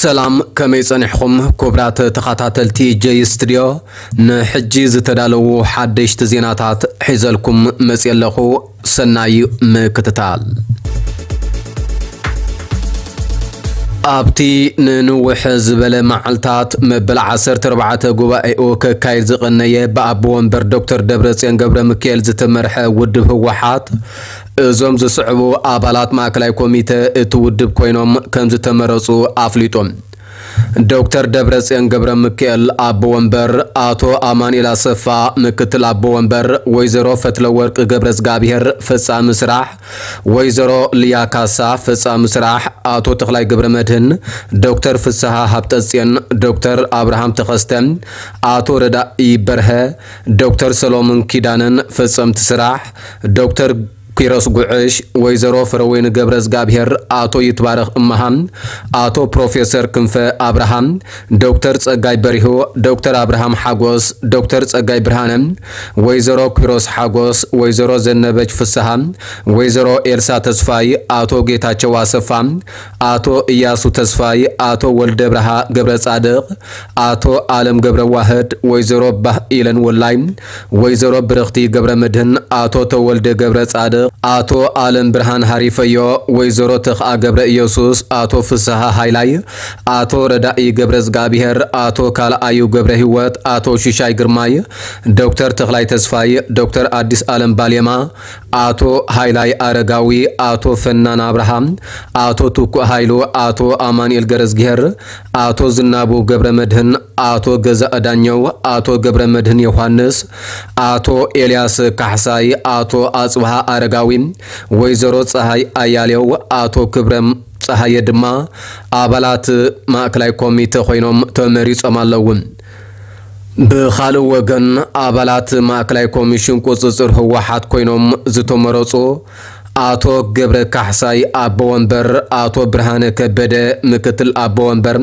ሰላም፣ ከመይ ጸኒሕኹም ክቡራት ተኸታተልቲ ጀይ ስቱድዮ? ንሕጂ ዝተዳለዉ ሓደሽቲ ዜናታት ሒዘልኩም መጽየ ኣለኹ። ሰናይ ምክትታል። ኣብቲ ንንውሕ ዝበለ መዓልታት መበል ዓሰርተ ኣርባዕተ ጉባኤኡ ከካይድ ዝቐነየ ብኣቦ ወንበር ዶክተር ደብረጽዮን ገብረ ሚካኤል ዝተመርሐ ውድብ ህወሓት፣ እዞም ዝስዕቡ ኣባላት ማእከላይ ኮሚተ እቲ ውድብ ኮይኖም ከም ዝተመረጹ ኣፍሊጡ። ዶክተር ደብረጽዮን ገብረ ሚካኤል ኣቦ ወንበር፣ ኣቶ ኣማኑኤል ኣሰፋ ምክትል ኣቦ ወንበር፣ ወይዘሮ ፈትለወርቅ ገብረ እግዚኣብሔር ፈጻሚ ስራሕ፣ ወይዘሮ ልያ ካሳ ፈጻሚ ስራሕ፣ ኣቶ ተኽላይ ገብረ መድህን፣ ዶክተር ፍስሃ ሃብተጽዮን፣ ዶክተር ኣብርሃም ተኸስተ፣ ኣቶ ረዳኢ በርሀ፣ ዶክተር ሰሎሞን ኪዳነን ፈጸምቲ ስራሕ፣ ዶክተር ኪሮስ ጉዕሽ፣ ወይዘሮ ፍረወይኒ ገብረ እግዚኣብሔር፣ ኣቶ ይትባረኽ እመሃ፣ ኣቶ ፕሮፌሰር ክንፈ ኣብርሃ፣ ዶክተር ጸጋይ በሪሁ፣ ዶክተር ኣብርሃም ሓጎስ፣ ዶክተር ጸጋይ ብርሃነ፣ ወይዘሮ ኪሮስ ሓጎስ፣ ወይዘሮ ዘነበች ፍስሃ፣ ወይዘሮ ኤልሳ ተስፋይ፣ ኣቶ ጌታቸው ኣሰፋ፣ ኣቶ እያሱ ተስፋይ፣ ኣቶ ወልደ ብርሃ ገብረ ጻድቕ፣ ኣቶ ኣለም ገብረ ዋህድ፣ ወይዘሮ ባህ ኢለን ወላይ፣ ወይዘሮ ብርኽቲ ገብረ መድህን፣ ኣቶ ተወልደ ገብረ ጻድቕ፣ ኣቶ ኣለም ብርሃን ሃሪፈዮ፣ ወይዘሮ ተኽኣ ገብረ ኢየሱስ፣ ኣቶ ፍስሃ ሃይላይ፣ ኣቶ ረዳኢ ገብረ እግዚኣብሔር፣ ኣቶ ካልኣዩ ገብረ ህይወት፣ ኣቶ ሽሻይ ግርማይ፣ ዶክተር ተኽላይ ተስፋይ፣ ዶክተር ኣዲስ ኣለም ባሌማ፣ ኣቶ ሃይላይ ኣረጋዊ፣ ኣቶ ፈናን ኣብርሃ፣ ኣቶ ትኩእ ሃይሉ፣ ኣቶ ኣማኑኤል ገረዝግሄር፣ ኣቶ ዝናቡ ገብረ መድህን፣ ኣቶ ገዛእ ዳኘው፣ ኣቶ ገብረ መድህን ዮሃንስ፣ ኣቶ ኤልያስ ካሕሳይ፣ ኣቶ ኣጽብሃ ኣረጋዊ፣ ወይዘሮ ጸሃይ ኣያሌው፣ ኣቶ ክብረም ጸሃየ ድማ ኣባላት ማእከላይ ኮሚተ ኮይኖም ተመሪጾም ኣለዉ። ብኻልእ ወገን፣ ኣባላት ማእከላይ ኮሚሽን ቁጽጽር ህወሓት ኮይኖም ዝተመረጹ ኣቶ ገብረ ካሕሳይ ኣቦ ወንበር፣ ኣቶ ብርሃነ ከበደ ምክትል ኣቦ ወንበር፣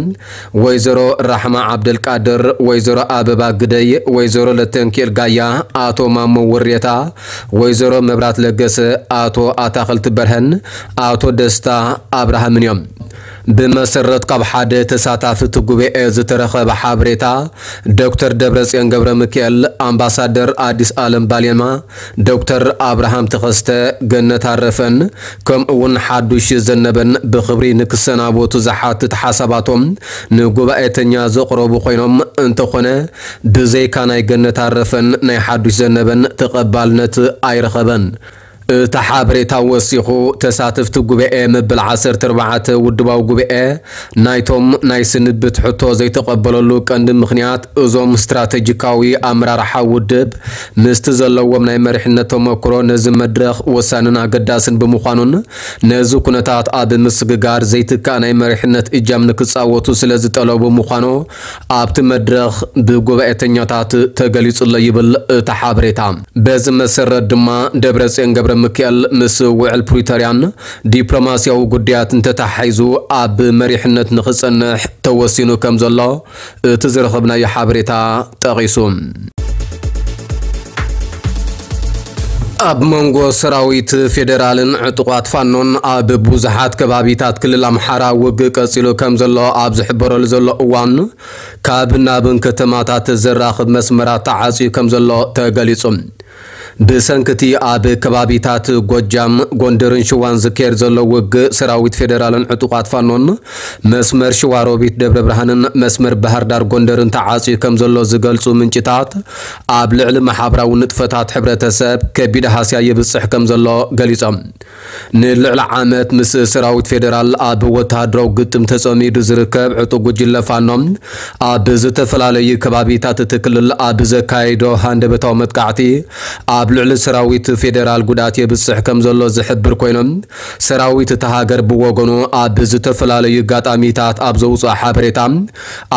ወይዘሮ ራሕማ ዓብደልቃድር፣ ወይዘሮ ኣበባ ግደይ፣ ወይዘሮ ለተንኪኤል ጋያ፣ ኣቶ ማሞ ውሬታ፣ ወይዘሮ መብራት ለገሰ፣ ኣቶ ኣታኽልቲ በርሀን ኣቶ ደስታ ኣብርሃምን እዮም። ብመሰረት ካብ ሓደ ተሳታፊ እቲ ጉባኤ ዝተረኸበ ሓበሬታ፣ ዶክተር ደብረጽዮን ገብረ ሚካኤል፣ ኣምባሳደር ኣዲስ ኣለም ባሌማ፣ ዶክተር ኣብርሃም ተኸስተ፣ ገነት ኣረፈን፣ ከምኡ እውን ሓዱሽ ዘነበን ብኽብሪ ንክሰናበቱ ዝሓትት ሓሳባቶም ንጉባኤተኛ ዘቕረቡ ኮይኖም፣ እንተኾነ ብዘይካ ናይ ገነት ኣረፈን ናይ ሓዱሽ ዘነበን ተቐባልነት ኣይረኸበን። እቲ ሓበሬታ ወሲኹ፣ ተሳተፍቲ ጉባኤ መበል ዓሰርተ ኣርባዕተ ውድባዊ ጉባኤ ናይቶም ናይ ስንብት ሕቶ ዘይተቐበለሉ ቀንዲ ምኽንያት፣ እዞም ስትራተጂካዊ ኣመራርሓ ውድብ ምስቲ ዘለዎም ናይ መሪሕነት ተመክሮ ነዚ መድረኽ ወሳንን ኣገዳስን ብምዃኑን ነዚ ኩነታት ኣብ ምስግጋር ዘይትካእ ናይ መሪሕነት እጃም ንክጻወቱ ስለ ዝጠለቡ ምዃኑ ኣብቲ መድረኽ ብጉባኤተኛታት ተገሊጹ ኣሎ ይብል እቲ ሓበሬታ። በዚ መሰረት ድማ ደብረጽዮን ገብረ ሚካኤል ምስ ውዕል ፕሪቶርያን ዲፕሎማስያዊ ጉዳያትን ተተሓሒዙ ኣብ መሪሕነት ንኽጸንሕ ተወሲኑ ከም ዘሎ እቲ ዝረኸብናዮ ሓበሬታ ጠቒሱ። ኣብ መንጎ ሰራዊት ፌዴራልን ዕጡቓት ፋኖን ኣብ ብዙሓት ከባቢታት ክልል ኣምሓራ ውግእ ቀጺሉ ከም ዘሎ ኣብ ዝሕበረሉ ዘሎ እዋን፣ ካብ ናብን ከተማታት ዘራኽብ መስመራት ተዓጽዩ ከም ዘሎ ተገሊጹ። ብሰንክቲ ኣብ ከባቢታት ጎጃም፣ ጎንደርን ሽዋን ዝካየድ ዘሎ ውግእ፣ ሰራዊት ፌዴራልን ዕጡቓት ፋኖን መስመር ሽዋሮቢት ደብረ ብርሃንን መስመር ባህር ዳር ጎንደርን ተዓጽዩ ከም ዘሎ ዝገልጹ ምንጭታት፣ ኣብ ልዕሊ ማሕበራዊ ንጥፈታት ሕብረተሰብ ከቢድ ሃስያ ይብጽሕ ከም ዘሎ ገሊጾም። ንልዕሊ ዓመት ምስ ሰራዊት ፌዴራል ኣብ ወተሃደራዊ ግጥም ተጸሚዱ ዝርከብ ዕጡቕ ጉጅለ ፋኖ፣ ኣብ ዝተፈላለዩ ከባቢታት እቲ ክልል ኣብ ዘካየዶ ሃንደበታዊ መጥቃዕቲ፣ ኣብ ልዕሊ ሰራዊት ፌዴራል ጉድኣት የብጽሕ ከም ዘሎ ዝሕብር ኮይኑ፣ ሰራዊት እታ ሃገር ብወገኑ ኣብ ዝተፈላለዩ ኣጋጣሚታት ኣብ ዘውጽኦ ሓበሬታ፣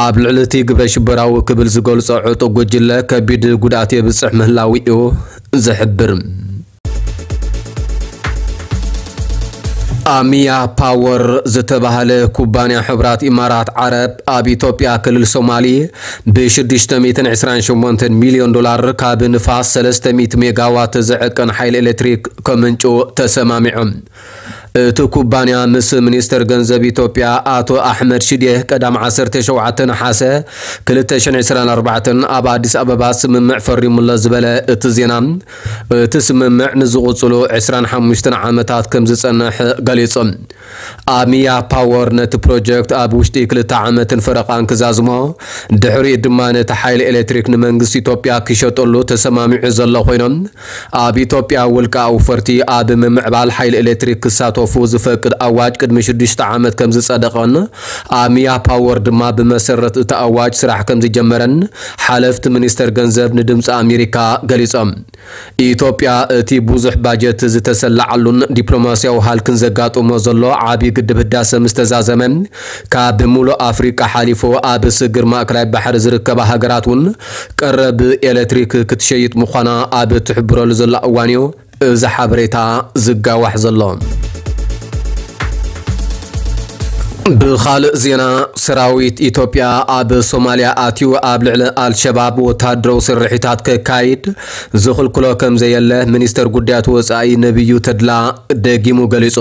ኣብ ልዕሊ እቲ ግብረ ሽበራዊ ክብል ዝገልጾ ዕጡቕ ጉጅለ ከቢድ ጉድኣት የብጽሕ ምህላዉ እዩ ዝሕብር። ኣሚያ ፓወር ዝተባህለ ኩባንያ ሕቡራት ኢማራት ዓረብ ኣብ ኢትዮጵያ ክልል ሶማሊ ብ ሽዱሽተ ሚእትን ዕስራን ሸሞንተን ሚልዮን ዶላር ካብ ንፋስ ሰለስተ ሚእቲ ሜጋዋት ዝዕቅን ሓይሊ ኤሌክትሪክ ከምንጩ ተሰማሚዑ። እቲ ኩባንያ ምስ ሚኒስተር ገንዘብ ኢትዮጵያ ኣቶ ኣሕመድ ሽዴ ቀዳም ዓሰርተ ሸውዓተ ነሓሰ ክልተ ሽሕን ዕስራን ኣርባዕተን ኣብ ኣዲስ ኣበባ ስምምዕ ፈሪሙሎ ዝበለ እቲ ዜና፣ እቲ ስምምዕ ንዝቕጽሉ ዕስራን ሓሙሽተን ዓመታት ከም ዝጸንሕ ገሊጹ። ኣሚያ ፓወር ነቲ ፕሮጀክት ኣብ ውሽጢ ክልተ ዓመትን ፈረቓን ክዛዝሞ፣ ድሕሪኡ ድማ ነቲ ሓይሊ ኤሌክትሪክ ንመንግስቲ ኢትዮጵያ ክሸጠሉ ተሰማሚዑ ዘሎ ኮይኖም፣ ኣብ ኢትዮጵያ ውልቀ ኣውፈርቲ ኣብ ምምዕባል ሓይሊ ኤሌክትሪክ ክሳተፉ ዝፈቅድ ኣዋጅ ቅድሚ ሽዱሽተ ዓመት ከም ዝጸደቐን፣ ኣሚያ ፓወር ድማ ብመሰረት እቲ ኣዋጅ ስራሕ ከም ዝጀመረን ሓለፍቲ ሚኒስተር ገንዘብ ንድምፂ ኣሜሪካ ገሊጾም። ኢትዮጵያ እቲ ብዙሕ ባጀት ዝተሰላዓሉን ዲፕሎማስያዊ ሃልክን ዘጋጥሞ ዘሎ ዓቢ ግድብ ህዳሰ ምስ ተዛዘመ፣ ካብ ምሉእ ኣፍሪቃ ሓሊፉ ኣብ ስግር ማእከላይ ባሕሪ ዝርከባ ሃገራት እውን ቀረብ ኤሌክትሪክ ክትሸይጥ ምዃና ኣብ ትሕብረሉ ዘላ እዋን እዩ እዚ ሓበሬታ ዝጋዋሕ ዘሎ። ብኻልእ ዜና፣ ሰራዊት ኢትዮጵያ ኣብ ሶማልያ ኣትዩ ኣብ ልዕሊ ኣልሸባብ ወተሃደራዊ ስርሒታት ከካይድ ዝኽልክሎ ከም ዘየለ ሚኒስተር ጉዳያት ወጻኢ ነቢዩ ተድላ ደጊሙ ገሊጹ።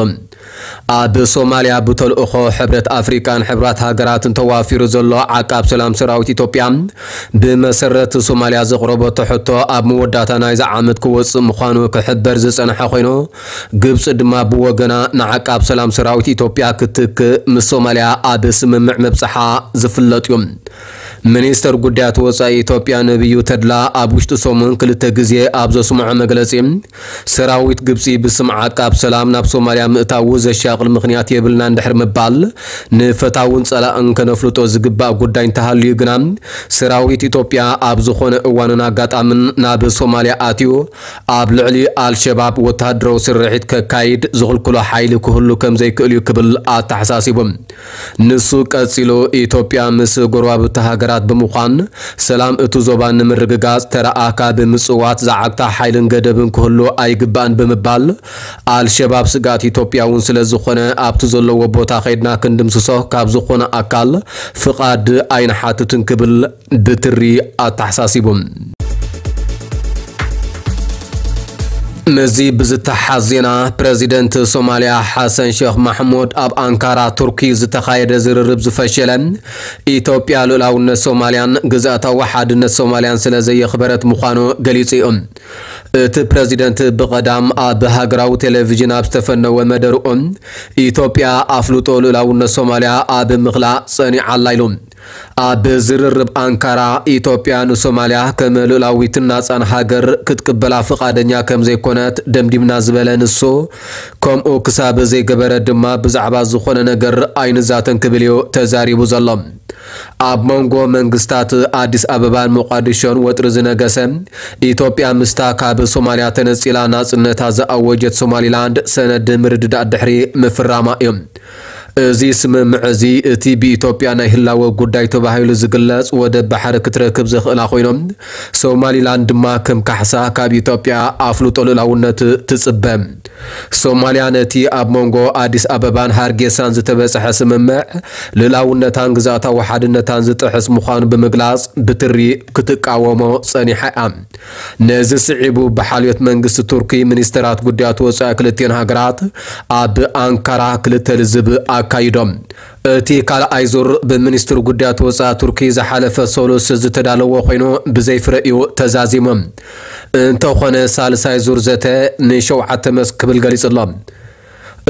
ኣብ ሶማልያ ብተልእኾ ሕብረት ኣፍሪቃን ሕብራት ሃገራትን ተዋፊሩ ዘሎ ዓቃብ ሰላም ሰራዊት ኢትዮጵያ፣ ብመሰረት ሶማልያ ዘቕረበቶ ሕቶ ኣብ መወዳእታ ናይዚ ዓመት ክወጽእ ምዃኑ ክሕበር ዝጸንሐ ኮይኑ፣ ግብጺ ድማ ብወገና ንዓቃብ ሰላም ሰራዊት ኢትዮጵያ ክትክእ ምስ ሶማልያ ኣብ ስምምዕ ምብጽሓ ዝፍለጥ እዩ። ሚኒስተር ጉዳያት ወጻኢ ኢትዮጵያ ነቢዩ ተድላ ኣብ ውሽጢ ሰሙን ክልተ ግዜ ኣብ ዘስምዖ መግለጺ፣ ሰራዊት ግብጺ ብስም ዓቃብ ሰላም ናብ ሶማልያ ምእታዉ ዘሻቕል ምኽንያት የብልናን ድሕሪ ምባል፣ ንፈታውን ጸላእን ከነፍልጦ ዝግባእ ጉዳይ እንተሃልዩ ግና፣ ሰራዊት ኢትዮጵያ ኣብ ዝኾነ እዋንን ኣጋጣምን ናብ ሶማልያ ኣትዩ ኣብ ልዕሊ ኣልሸባብ ወተሃደራዊ ስርሒት ከካይድ ዝኽልክሎ ሓይሊ ክህሉ ከም ዘይክእል እዩ ክብል ኣተሓሳሲቡ። ንሱ ቀጺሉ፣ ኢትዮጵያ ምስ ጎረባብቲ ሃገራት ብምዃን ሰላም እቲ ዞባ ንምርግጋጽ ተራኣ ካብ ምጽዋት ዝዓግታ ሓይልን ገደብን ክህሉ ኣይግባእን ብምባል፣ ኣልሸባብ ስግኣት ኢትዮጵያ እውን ስለ ዝኾነ ኣብቲ ዘለዎ ቦታ ከይድና ክንድምስሶ ካብ ዝኾነ ኣካል ፍቓድ ኣይንሓትትን ክብል ብትሪ ኣተሓሳሲቡ። ምስዚ ብዝተሓዝ ዜና፣ ፕረዚደንት ሶማልያ ሓሰን ሼኽ ማሕሙድ ኣብ ኣንካራ ቱርኪ ዝተኻየደ ዝርርብ ዝፈሸለ፣ ኢትዮጵያ ልኡላውነት ሶማልያን ግዝኣታዊ ሓድነት ሶማልያን ስለ ዘየኽበረት ምዃኑ ገሊጹ እዩ። እቲ ፕረዚደንት ብቐዳም ኣብ ሃገራዊ ቴሌቪዥን ኣብ ዝተፈነወ መደርኡ፣ ኢትዮጵያ ኣፍልጦ ልኡላውነት ሶማልያ ኣብ ምኽላእ ጸኒዓ ኣላ ኢሉ። ኣብ ዝርርብ ኣንካራ፣ ኢትዮጵያ ንሶማልያ ከም ልኡላዊትን ናጻን ሃገር ክትቅበላ ፍቓደኛ ከም ዘይኮነት ደምዲምና ዝበለ ንሱ፣ ከምኡ ክሳብ ዘይገበረ ድማ ብዛዕባ ዝኾነ ነገር ኣይንዛተን ክብል እዩ ተዛሪቡ ዘሎ። ኣብ መንጎ መንግስታት ኣዲስ ኣበባን ሞቃዲሾን ወጥሪ ዝነገሰ፣ ኢትዮጵያ ምስታ ካብ ሶማልያ ተነጺላ ናጽነታ ዝኣወጀት ሶማሊላንድ ሰነድ ምርድዳእ ድሕሪ ምፍራማ እዩ። እዚ ስምምዕ እዚ፣ እቲ ብኢትዮጵያ ናይ ህላወ ጉዳይ ተባሂሉ ዝግለጽ ወደብ ባሕሪ ክትረክብ ዘኽእላ ኮይኖም፣ ሶማሊላንድ ድማ ከም ካሕሳ ካብ ኢትዮጵያ ኣፍልጦ ልኡላውነት ትጽበ። ሶማልያ ነቲ ኣብ መንጎ ኣዲስ ኣበባን ሃርጌሳን ዝተበጽሐ ስምምዕ፣ ልኡላውነታን ግዝኣታዊ ሓድነታን ዝጥሕስ ምዃኑ ብምግላጽ፣ ብትሪ ክትቃወሞ ጸኒሓ እያ። ነዚ ስዒቡ፣ ብሓልዮት መንግስቲ ቱርኪ፣ ሚኒስተራት ጉዳያት ወጻኢ ክልቲኤን ሃገራት ኣብ ኣንካራ ክልተ ልዝብ ኣካይዶም። እቲ ካልኣይ ዙር፣ ብሚኒስትሪ ጉዳያት ወጻኢ ቱርኪ ዝሓለፈ ሰሉስ ዝተዳለወ ኮይኑ፣ ብዘይ ፍረ እዩ ተዛዚሙ። እንተኾነ፣ ሳልሳይ ዙር ዘተ ንሸውዓተ መስክ ክብል ገሊጹ ኣሎ።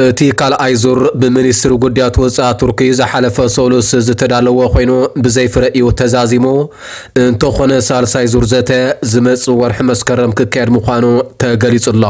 እቲ ካልኣይ ዙር፣ ብሚኒስትሪ ጉዳያት ወጻኢ ቱርኪ ዝሓለፈ ሰሉስ ዝተዳለወ ኮይኑ፣ ብዘይ ፍረ እዩ ተዛዚሙ። እንተኾነ፣ ሳልሳይ ዙር ዘተ ዝመጽእ ወርሒ መስከረም ክካየድ ምዃኑ ተገሊጹ ኣሎ።